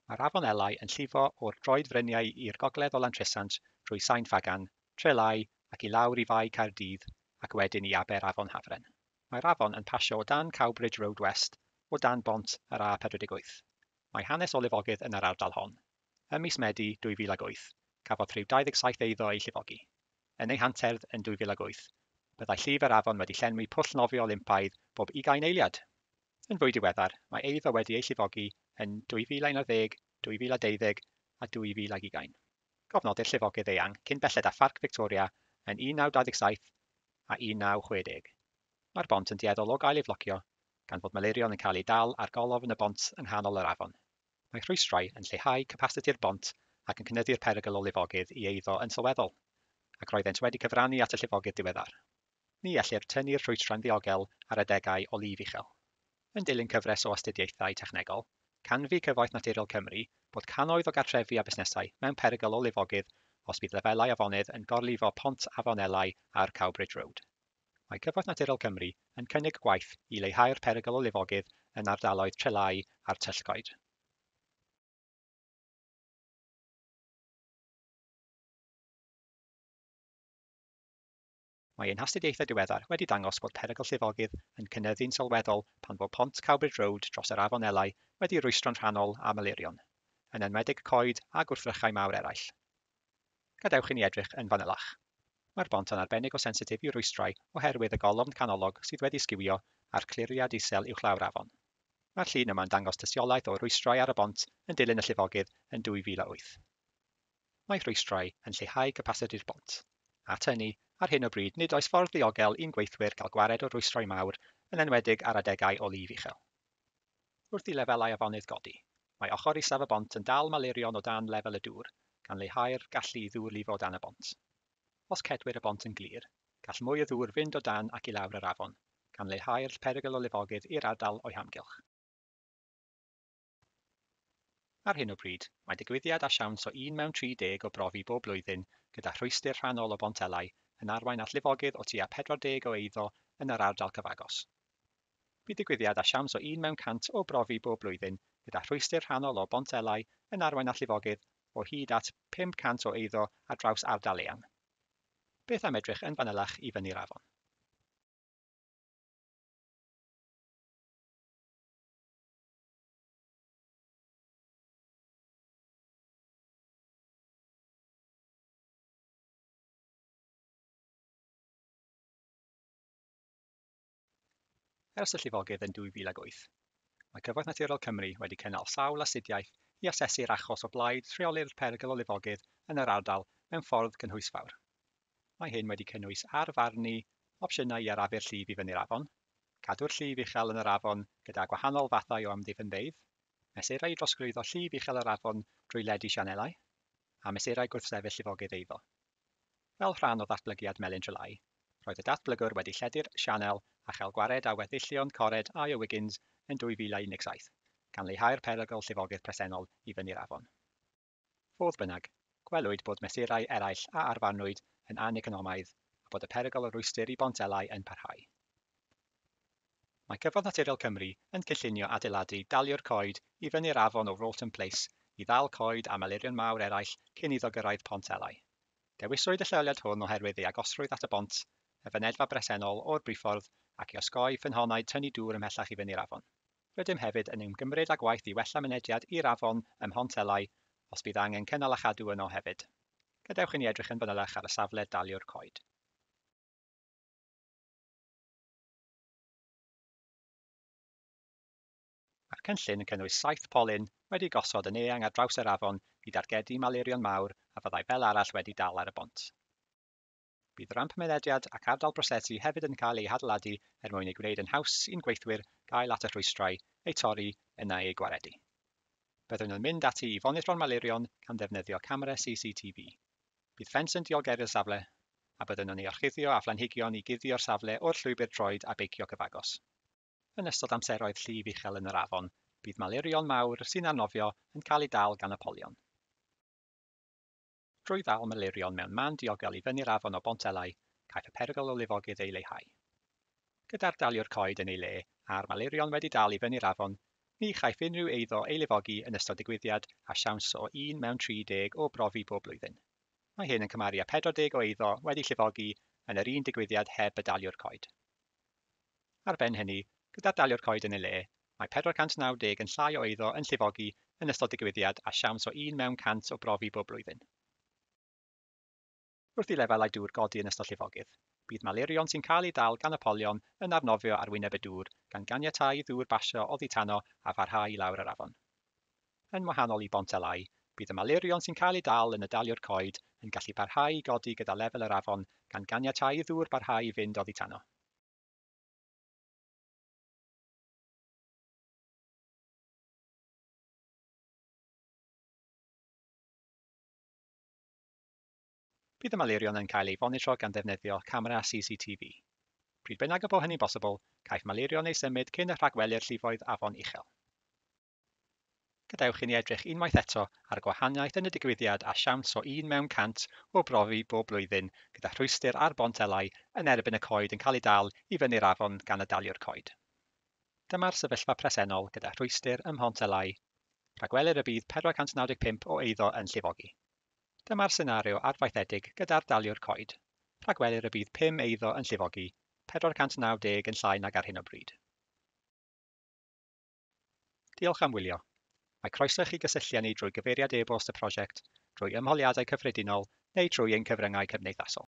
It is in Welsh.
Mae'r afon Elai yn llifo o'r droedfryniau i'r gogledd o Lantrisant drwy Sain Ffagan, Trelai ac i lawr i Fae Caerdydd ac wedyn i aber Afon Hafren. Mae'r afon yn pasio o dan Cowbridge Road West, o dan bont yr A48. Mae hanes o lifogydd yn yr ardal hon. Ym mis Medi 2008, cafodd rhyw 27 eiddo eu llifogi. Yn ei hanterdd yn 2008, byddai llif yr afon wedi llenwi pwll nofio Olympaidd bob ugain eiliad! Yn fwy diweddar, mae eiddo wedi eu llifogi yn 2011, 2012 a 2020. Cofnodir llifogydd eang cyn belled â Pharc Victoria yn 1927 a 1960. Mae'r bont yn dueddol o gael ei flocio, gan fod malurion yn cael eu dal ar golofn y bont yng nghanol yr afon. Mae rhwystrau yn lleihau capasiti'r bont ac yn cynyddu'r perygl o lifogydd i eiddo yn sylweddol, ac roeddent wedi cyfrannu at y llifogydd diweddar. Ni ellir tynnu'r rhwystrau'n ddiogel ar adegau o lif uchel. Yn dilyn cyfres o astudiaethau technegol, canfu Cyfoeth Naturiol Cymru bod cannoedd o gartrefi a busnesau mewn perygl o lifogydd os bydd lefelau afonydd yn gorlifo Pont Afon Elai ar Cowbridge Road. Mae Cyfoeth Naturiol Cymru yn cynnig gwaith i leihau'r perygl o lifogydd yn ardaloedd Trelái a'r Tyllgoed. Mae ein hastudiaethau diweddar wedi dangos bod perygl llifogydd yn cynyddu'n sylweddol pan fo pont Cowbridge Road dros yr Afon Elai wedi rwystro'n rhannol â malurion, yn enwedig coed a gwrthrychau mawr eraill. Gadewch i ni edrych yn fanylach. Mae'r bont yn arbennig o sensitif i rwystrau oherwydd y golofn canolog sydd wedi sgiwio a'r cliriad isel uwchlaw'r afon. Mae'r llun yma'n dangos tystiolaeth o rwystrau ar y bont yn dilyn y llifogydd yn 2008. Mae rhwystrau yn lleihau capasiti'r bont. At hynny, ar hyn o bryd nid oes ffordd ddiogel i'n gweithwyr gael gwared o rwystrau mawr, yn enwedig ar adegau o lif uchel. Wrth i lefelau afonydd godi, mae ochr isaf y bont yn dal malurion o dan lefel y dŵr, gan leihau'r gallu i ddŵr lifo dan y bont. Os cedwir y bont yn glir, gall mwy o ddŵr fynd o dan ac i lawr yr afon, gan leihau'r perygl o lifogydd i'r ardal o'i hamgylch. Ar hyn o bryd, mae digwyddiad â siawns o un mewn 30 o brofi bob blwyddyn gyda rhwystr rhannol o Bont Elai yn arwain at lifogydd o tua 40 o eiddo yn yr ardal cyfagos. Bydd digwyddiad â siawns o un mewn 100 o brofi bob blwyddyn gyda rhwystr rhannol o Bont Elai yn arwain at lifogydd o hyd at 500 o eiddo ar draws ardal eang. Beth am edrych yn fanylach i fyny'r afon? Ers y llifogydd yn 2008, mae Cyfoeth Naturiol Cymru wedi cynnal sawl astudiaeth i asesu'r achos o blaid rheoli'r perygl o lifogydd yn yr ardal mewn ffordd gynhwysfawr. Mae hyn wedi cynnwys arfarnu opsiynau i arafu'r llif i fyny'r afon, cadw'r llif uchel yn yr afon gyda gwahanol fathau o amddiffynfeydd, mesurau i drosglwyddo llif uchel yr afon drwy ledu sianelau, a mesurau gwrthsefyll llifogydd eiddo. Fel rhan o ddatblygiad Melin Trelai, roedd y datblygwr wedi lledu'r sianel a chael gwared â weddillion cored I.O. Wiggins yn 2017, gan leihau'r perygl llifogydd presennol i fyny'r afon. Fodd bynnag, gwelwyd bod mesurau eraill a arfarnwyd yn aneconomaidd a bod y perygl o rwystr i Bont Elai yn parhau. Mae Cyfoeth Naturiol Cymru yn cynllunio adeiladu daliwr coed i fyny'r afon o Wroughton Place i ddal coed a malurion mawr eraill cyn iddo gyrraedd Pont Elai. Dewiswyd y lleoliad hwn oherwydd ei agosrwydd at y bont, y fynedfa bresennol o'r briffordd ac i osgoi ffynhonnau tynnu dŵr ymhellach i fyny'r afon. Rydym hefyd yn ymgymryd â gwaith i wella mynediad i'r afon ym Mhont Elai os bydd angen cynnal a chadw yno hefyd. Gadewch i ni edrych yn fanylach ar y safle daliwr coed. Mae'r cynllun yn cynnwys saith polyn wedi'u gosod yn eang ar draws yr afon i dargedu malurion mawr a fyddai fel arall wedi dal ar y bont. Bydd ramp mynediad ac ardal brosesu hefyd yn cael eu hadeiladu er mwyn ei gwneud yn haws i'n gweithwyr gael at y rhwystrau, eu torri, yna eu gwaredu. Byddwn yn mynd ati i fonitro'r malurion gan ddefnyddio camera CCTV. Bydd ffens yn diogelu'r safle, a byddwn yn ei orchuddio â phlanhigion i guddio'r safle o'r llwybr troed a beicio cyfagos. Yn ystod amseroedd llif uchel yn yr afon, bydd malurion mawr sy'n arnofio yn cael eu dal gan y polion. Drwy ddal malurion mewn man diogel i fyny'r afon o Bont Elai, caiff y perygl o lifogydd ei leihau. Gyda'r daliwr coed yn ei le a'r malurion wedi dal i fyny'r afon, Ni chaiff unrhyw eiddo ei lifogi yn ystod digwyddiad â siawns o 1 mewn 30 o brofi bob blwyddyn. Mae hyn yn cymharu â 40 o eiddo wedi llifogi yn yr un digwyddiad heb y daliwr coed. Ar ben hynny, gyda'r daliwr coed yn ei le, mae 490 yn llai o eiddo yn llifogi yn ystod digwyddiad â siawns o 1 mewn 100 o brofi bob blwyddyn. Wrth i lefelau dŵr godi yn ystod llifogydd, bydd malurion sy'n cael eu dal gan y polion yn arnofio ar wyneb y dŵr, gan ganiatáu i ddŵr basio oddi tano a pharhau i lawr yr afon. Yn wahanol i Bont Elai, bydd y malurion sy'n cael eu dal yn y daliwr coed yn gallu parhau i godi gyda lefel yr afon, gan ganiatáu i ddŵr barhau i fynd oddi tano. Bydd y malurion yn cael eu fonitro gan ddefnyddio camera CCTV. Pryd bynnag y bo hynny'n bosibl, caiff malurion eu symud cyn y rhagwelir llifoedd afon uchel. Gadewch i ni edrych unwaith eto ar y gwahaniaeth yn y digwyddiad a siawns o 1 mewn 100 o brofi bob blwyddyn gyda rhwystr ar Bont Elai yn erbyn y coed yn cael eu dal i fyny'r afon gan y daliwr coed. Dyma'r sefyllfa presennol gyda rhwystr ym Mhont Elai. Rhagwelir y bydd 495 o eiddo yn llifogi. Dyma'r senario arfaethedig gyda'r daliwr coed. Rhagwelir y bydd 5 eiddo yn llifogi, 490 yn llai nag ar hyn o bryd. Diolch am wylio. Mae croeso i chi gysylltu â ni drwy gyfeiriad e-bost y prosiect, drwy ymholiadau cyffredinol neu trwy ein cyfryngau cymdeithasol.